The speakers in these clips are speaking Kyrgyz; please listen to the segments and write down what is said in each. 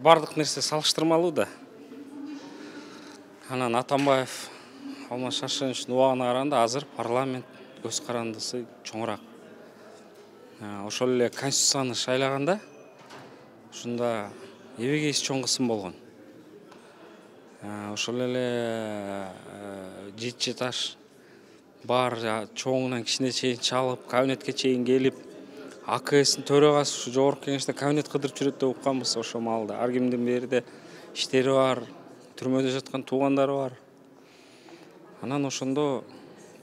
бардык нерсе салыштырмалуу да. Анан Атамбаев Алмаз Шаршеновичтин убагына караганда азыр парламент көз карандысы чоңураак. Ошол эле конституцияны шайлаганда ушунда эбегейси чоң кысым болгон. Ошол эле жети таш бар чоңунан кичине чейин чалып, кабинетке чейин келип, АКСтин төрагасы ушу жогорку кеңеште кабинет кыдырып жүрөт деп укканбыз ошол маалда. Ар кимдин берде иштери бар, түрмөдө жаткан туугандары бар. Анан ошондо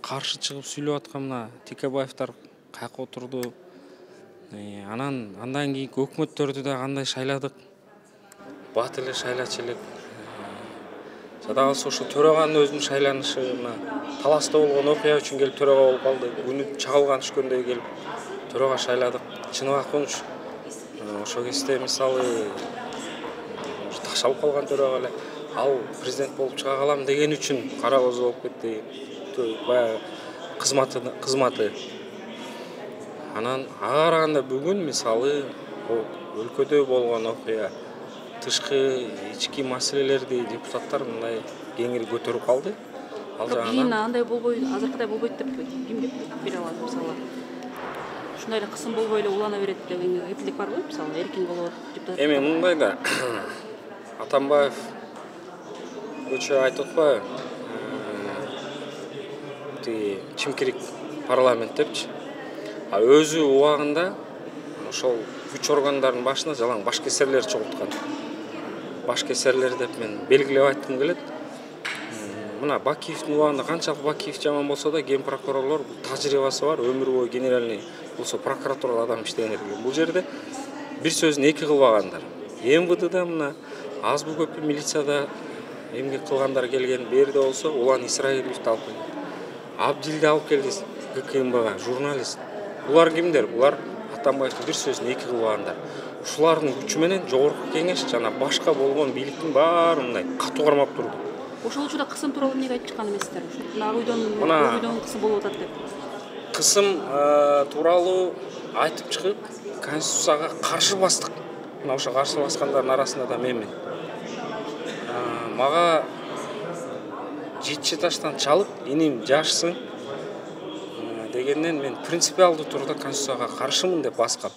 каршы чыгып сүйлөп аткан мына Текебаевдер каяка отурду. Андан кийинки өкмөттөрдү да кандай шайладык. Бат эле шайлачу элек. Жада калса ошо төраганын өзүнүн шайланышы мына Таласта болгон окуя үчүн келип төрага болуп калды. Күнү чагылган түшкөндөй келип төрага шайладык. Чыныбак Кунч ошол кезде мисалы ташалып калган төрага эле ал президент болуп чыга калам деген үчүн кара көз болуп кетти. Баягы кызматы. Анан ага караганда бүгүн мисалы өлкөдө болгон окуя тышкы ички маселелерди депутаттар мындай кеңири көтөрүп калды. Ал жагынан кийин андай болбойт, азыркыдай болбойт деп ким деп бере алат мисалы. Ушундай эле кысым болбой эле улана берет деген кепилдик барбы? Мисалы эркин болот депутат. Эми мындай да Атамбаев көчө айтып атпайбы? Тиги чимкирик парламент депчи. Өзү убагында ошол күч органдарынын башына жалаң башкесерлер чогулткан. Башкесерлер деп мен белгилеп айткым келет. Мына Бакиевдин убагында канчалык Бакиев жаман болсо да ген прокурорлор тажрыйбасы бар, өмүр бою генеральный болсо прокуратурада адам иштеген экен. Бул жерде бир сөзүн эки кылбагандар. МВДда мына аз бу көпү милицияда эмгек кылгандар келген, берде болсо Улан Исраиловичти алып келди. Абдилди алып келди ГКМБга, журналист. Булар кимдер? Булар Атамбаевдин бир сөзүн эки кылбагандар. Ушулардын күчү менен жогорку кеңеш жана башка болгон бийликтин баары мындай катуу кармап турду. Ошол учурда кысым тууралуу эмнеге айтып чыккан эмессиздер? Ак үйдөн кысым болуп атат деп. Кысым тууралуу айтып чыгып, конституцияга каршы бастык. Мына ошо каршы баскандардын арасында да менмин. Мага жети таштан чалып, иним жашсын дегенден мен принципиалдуу турда конституцияга каршымын деп баскам.